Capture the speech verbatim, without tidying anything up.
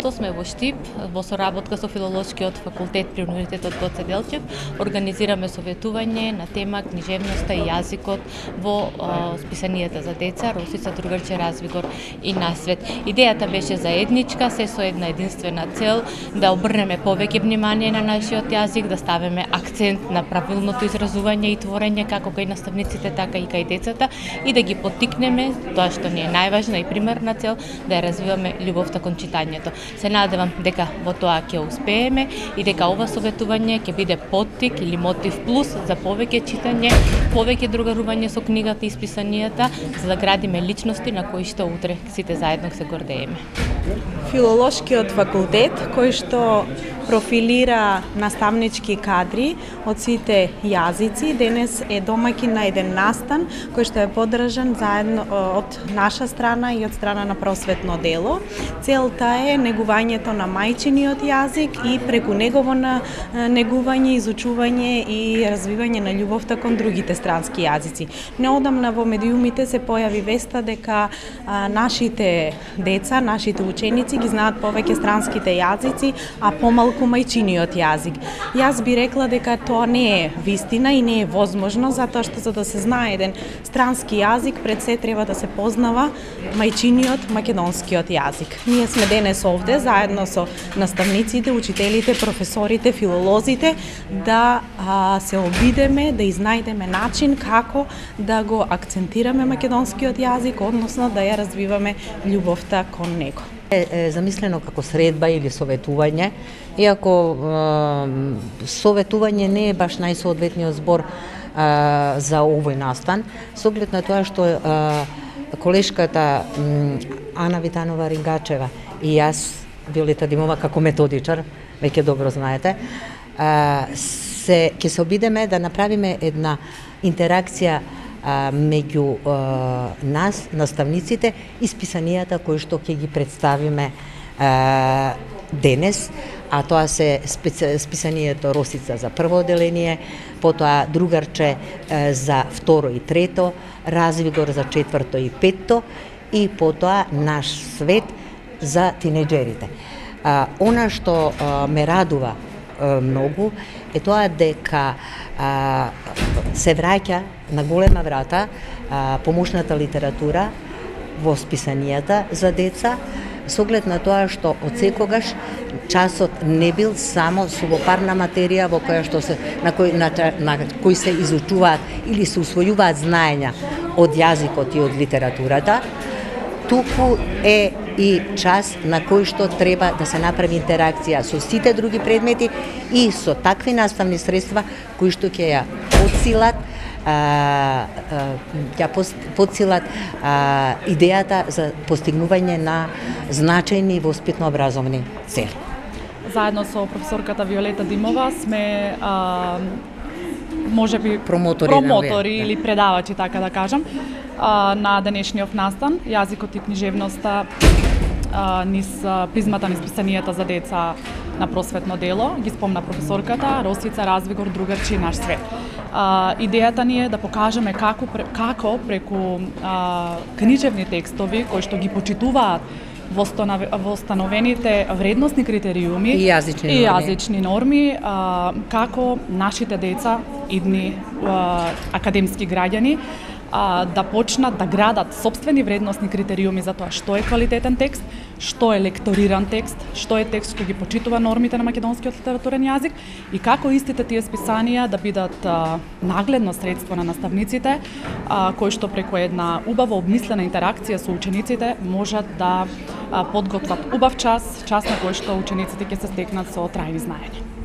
Тоа сме во Штип, во соработка со Филолошкиот факултет при Универзитетот Гоце Делчев, организираме советување на тема книжевноста и јазикот во о, списанијата за деца, Росица, Другарче, Развигор и Насвет. Идејата беше заедничка, се со една единствена цел да обрнеме повеќе внимание на нашиот јазик, да ставиме акцент на правилното изразување и творење како кај наставниците, така и кај децата и да ги поттикнеме, тоа што ни е најважна и примерна цел, да ја развиваме љубовта кон читањето. Се надевам дека во тоа ќе успееме и дека ова советување ќе биде поттик или мотив плюс за повеќе читање, повеќе другарување со книгата и списанијата, за да градиме личности на кои што утре сите заедно се гордееме. Филолошкиот факултет, кој што профилира наставнички кадри од сите јазици, денес е домаќин на еден настан кој што е поддржан заедно од наша страна и од страна на Просветно дело. Целта е негувањето на мајчиниот јазик и преку негово на негување, изучување и развивање на љубовта кон другите странски јазици. Неодамна во медиумите се појави веста дека а, нашите деца, нашите ученици ги знаат повеќе странските јазици, а помалку мајчиниот јазик. Јас би рекла дека тоа не е вистина и не е возможно, затоа што за да се знае еден странски јазик, пред се треба да се познава мајчиниот македонскиот јазик. Ние сме денес овде заедно со наставниците, учителите, професорите, филолозите да а, се обидеме да изнајдеме начин како да го акцентираме македонскиот јазик, односно да ја развиваме љубовта кон него. Е замислено како средба или советување, иако е, советување не е баш најсоодветниот збор е, за овој настан, со оглед на тоа што е, колешката Ана Витанова Рингачева и јас, Виолета Димова, како методичар, веќе добро знаете, е, се ќе се обидеме да направиме една интеракција А, меѓу а, нас, наставниците и списанијата кои што ќе ги представиме а, денес, а тоа се специ, списанието Росица за прво одделение, потоа Другарче а, за второ и трето, Развигор за четврто и петто и потоа Наш свет за тинеџерите. А, она што а, ме радува а, многу е тоа дека а, се враќа на голема врата а, помошната литература во списанијата за деца, со оглед на тоа што од секогаш часот не бил само сувопарна материја во која што се на кој на, на кој се изучуваат или се усвојуваат знаења од јазикот и од литературата, туку е и час на кој што треба да се направи интеракција со сите други предмети и со такви наставни средства кои што ќе ја подсилат а, а, ќе подсилат а, идејата за постигнување на значајни воспитно-образовни цели. Заедно со професорката Виолета Димова сме а, можеби промотори, промотори или предавачи, така да кажам, а, на денешниот настан јазикот и книжевноста а, низ призмата низ списанијата за деца на Просветно дело, ги спомна професорката, Росица, Развигор, Другарче и Наш свет. А, идејата ни е да покажеме како, како преку а, книжевни текстови кои што ги почитуваат востановените вредносни критериуми и јазични и норми, јазични норми а, како нашите деца, идни а, академски граѓани, а, да почнат да градат сопствени вредносни критериуми за тоа што е квалитетен текст, што е лекториран текст, што е текст што ги почитува нормите на македонскиот литературен јазик и како истите тие списанија да бидат а, нагледно средство на наставниците, а, кои што преку една убаво обмислена интеракција со учениците можат да а, подготват убав час, час на кој што учениците ќе се стекнат со трајни знаења.